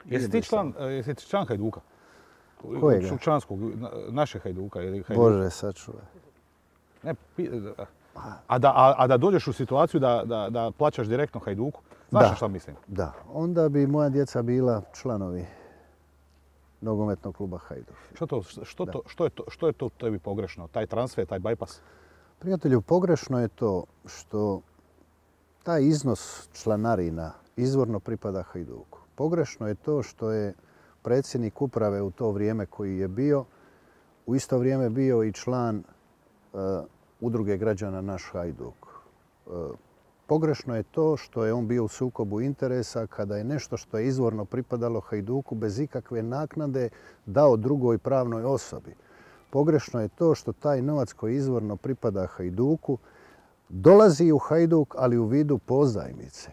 Jesi ti član Hajduka? Kojega? Članskog, naše Hajduka ili Hajduka? Bože, sačuvaj. Ne, a da dođeš u situaciju da plaćaš direktno Hajduku, znaš šta mislim? Da, onda bi moja djeca bila članovi nogometnog kluba Hajduk. Što je to tebi pogrešno? Taj transfer, taj bypass? Prijatelju, pogrešno je to što taj iznos članarina izvorno pripada Hajduku. Pogrešno je to što je predsjednik uprave u to vrijeme koji je bio, u isto vrijeme bio i član udruge građana Naš Hajduk. Pogrešno je to što je on bio u sukobu interesa kada je nešto što je izvorno pripadalo Hajduku bez ikakve naknade dao drugoj pravnoj osobi. Pogrešno je to što taj novac koji izvorno pripada Hajduku dolazi u Hajduk, ali u vidu pozajmice.